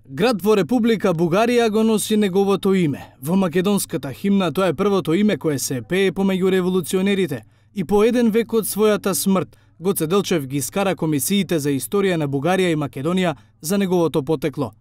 Град во Република Бугарија го носи неговото име. Во македонската химна тоа е првото име кое се пее помеѓу револуционерите и по еден век од својата смрт Гоце Делчев ги скара комисиите за историја на Бугарија и Македонија за неговото потекло.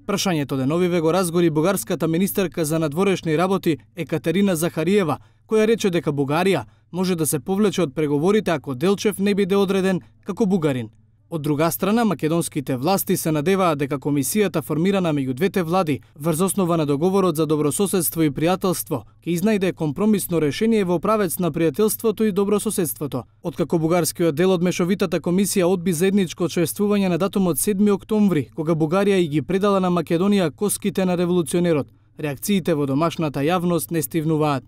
Прашањето деновиве го разгори бугарската министерка за надворешни работи Екатерина Захариева, која рече дека Бугарија може да се повлече од преговорите ако Делчев не биде одреден како бугарин. Од друга страна, македонските власти се надеваат дека комисијата формирана меѓу двете влади врз основа на договорот за добрососедство и пријателство ќе изнајде компромисно решение во правец на пријателството и добрососедството. Откако бугарскиот дел од мешовитата комисија одби заедничко чествување на датумот 7 октомври, кога Бугарија и ги предала на Македонија коските на револуционерот, реакциите во домашната јавност не стивнуваат.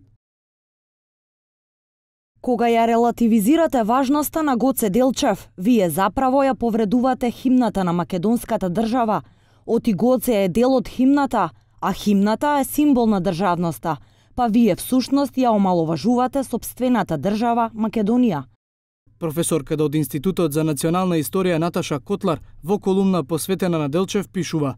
Кога ја релативизирате важноста на Гоце Делчев, вие заправо ја повредувате химната на македонската држава. Оти Гоце е дел од химната, а химната е символ на државноста, па вие всушност ја омаловажувате сопствената држава Македонија. Професорката од Институтот за национална историја Наташа Котлар во колумна посветена на Делчев пишува: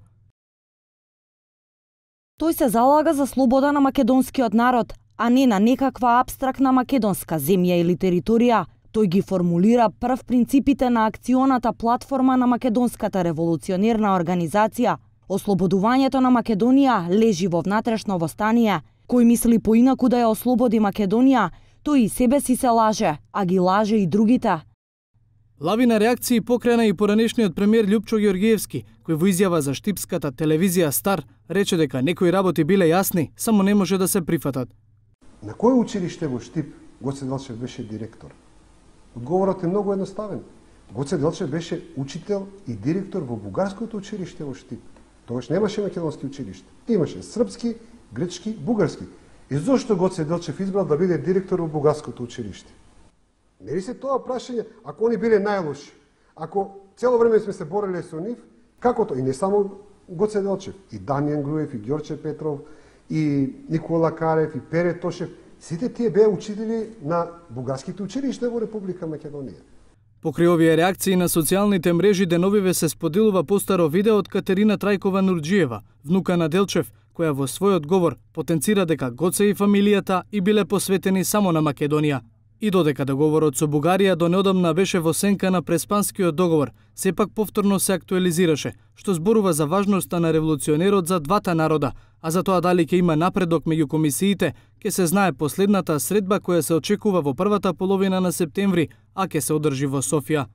Тој се залага за слобода на македонскиот народ, а не на некаква абстрактна македонска земја или територија. Тој ги формулира прв принципите на акционата платформа на македонската револуционерна организација. Ослободувањето на Македонија лежи во внатрешно востание. Кој мисли поинаку да ја ослободи Македонија, тој и себе си се лаже, а ги лаже и другите. Лавина реакции покрена и поранешниот премиер Љупчо Ѓоргиевски, кој во изјава за штипската телевизија Стар рече дека некои работи биле јасни, само не може да се прифатат. На кој училиште во Штип Гоце Делчев беше директор? Одговорот е многу едноставен. Гоце Делчев беше учител и директор во бугарското училиште во Штип. Тогаш немаше македонски училиште. Имаше српски, грчки, бугарски. И зошто Гоце Делчев избрал да биде директор во бугарското училиште? Не ли се тоа прашање, ако они биле најлоши? Ако цело време сме се бореле со нив, како тоа? И не само Гоце Делчев, и Дамјан Груев, и Ѓорче Петров, и Никола Карев, и Пере Тошев, сите тие беа учители на бугарските училишта во Република Македонија. Покрај овие реакции на социјалните мрежи деновиве се споделува постаро видео од Катерина Трајкова Нурџиева, внука на Делчев, која во својот говор потенцира дека Гоце и фамилијата и биле посветени само на Македонија. И додека договорот со Бугарија до неодамна беше во сенка на Преспанскиот договор, сепак повторно се актуализираше, што зборува за важноста на револуционерот за двата народа, а за тоа дали ќе има напредок меѓу комисиите, ќе се знае последната средба која се очекува во првата половина на септември, а ќе се одржи во Софија.